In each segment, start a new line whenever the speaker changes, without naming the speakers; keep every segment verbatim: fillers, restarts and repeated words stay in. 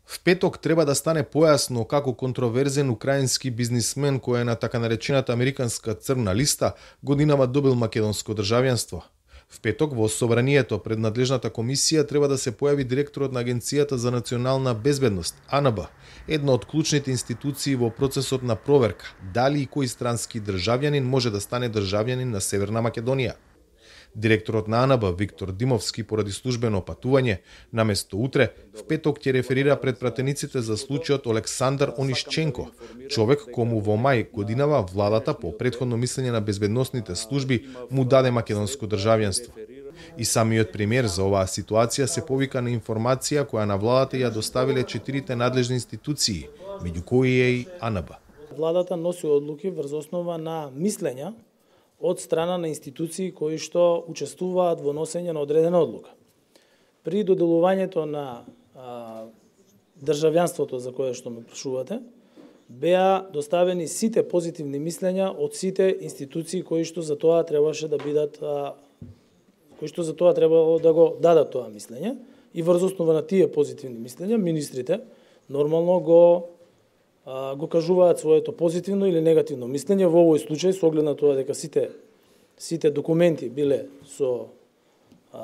В петок треба да стане појасно како контроверзен украински бизнисмен кој е на така наречената американска црна листа годинава добил македонско државјанство. В петок во собранието пред надлежната комисија треба да се појави директорот на Агенцијата за национална безбедност, А Н Б, една од клучните институции во процесот на проверка дали и кој странски државјанин може да стане државјанин на Северна Македонија. Директорот на А Н Б, Виктор Димовски, поради службено патување, наместо утре, в петок ќе реферира пред пратениците за случајот Олександар Онишченко, човек кому во мај годинава владата по претходно мислење на безбедносните служби му даде македонско државјанство. И самиот премиер за оваа ситуација се повика на информација која на владата ја доставиле четирите надлежни институции, меѓу кои е и А Н Б.
Владата носи одлуки врз основа на мислења од страна на институции кои што учествуваат во носење на одредена одлука. При доделувањето на а, државјанството за кое што ме прашувате, беа доставени сите позитивни мислења од сите институции кои што за тоа требаше да бидат а, кои што за тоа требало да го дадат тоа мислење, и врз основа на тие позитивни мислења министрите нормално го го кажуваат своето позитивно или негативно мислење. Во овој случај, со оглед на тоа дека сите сите документи биле со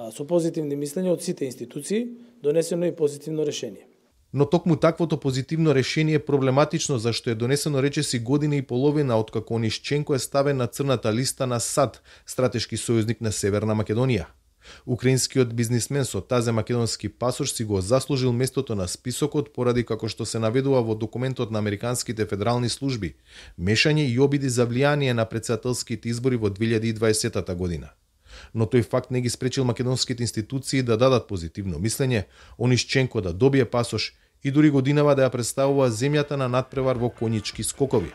со позитивни мислења од сите институции, донесено и позитивно решение.
Но токму таквото позитивно решение е проблематично зашто е донесено речиси година и половина откако Онишченко е ставен на црната листа на САД, стратешки сојузник на Северна Македонија. Украинскиот бизнисмен со тазе македонски пасош си го заслужил местото на списокот поради како што се наведува во документот на американските федерални служби, мешање и обиди за влијание на претседателските избори во две илјади и дваесета година. Но тој факт не ги спречил македонските институции да дадат позитивно мислење, Онишченко да добие пасош и дури годинава да ја представува земјата на надпревар во конјички скокови.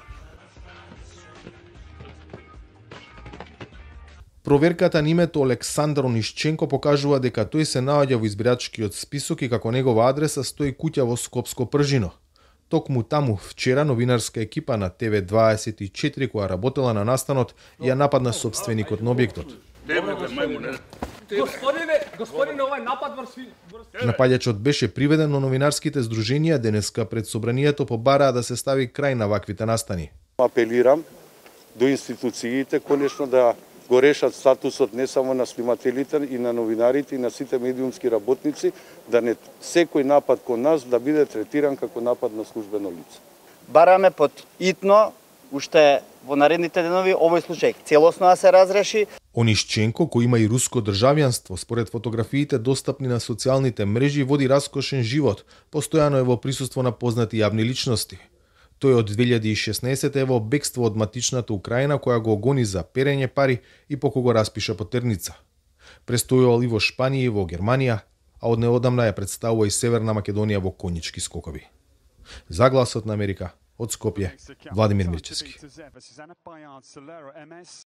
Проверката на името Олександар Онишченко покажува дека тој се наоѓа во избирачкиот список и како негова адреса стои куќа во Скопско Пржино. Токму таму вчера новинарска екипа на Т В дваесет и четири која работела на настанот ја нападна собственикот на објектот.
Господине, господине, овај напад врз...
Напаѓачот беше приведен, но новинарските здруженија денеска пред собранието побараа да се стави крај на ваквите настани.
Апелирам до институциите конечно да го решат статусот не само на снимателите и на новинарите и на сите медиумски работници, да не секој напад кон нас да биде третиран како напад на службено лице.
Бараме под итно, уште во наредните денови, овој случај целосно да се разреши.
Онишченко, кој има и руско државјанство, според фотографиите достапни на социјалните мрежи, води раскошен живот, постојано е во присуство на познати јавни личности. Тој од две илјади и шеснаесета е во бегство од матичната Украина која го гони за перење пари и поку го распиша потерница. Престојувал и во Шпанија и во Германија, а од неодамна ја представува и Северна Македонија во конјички скокови. За Гласот на Америка, од Скопје, Владимир Мирчевски.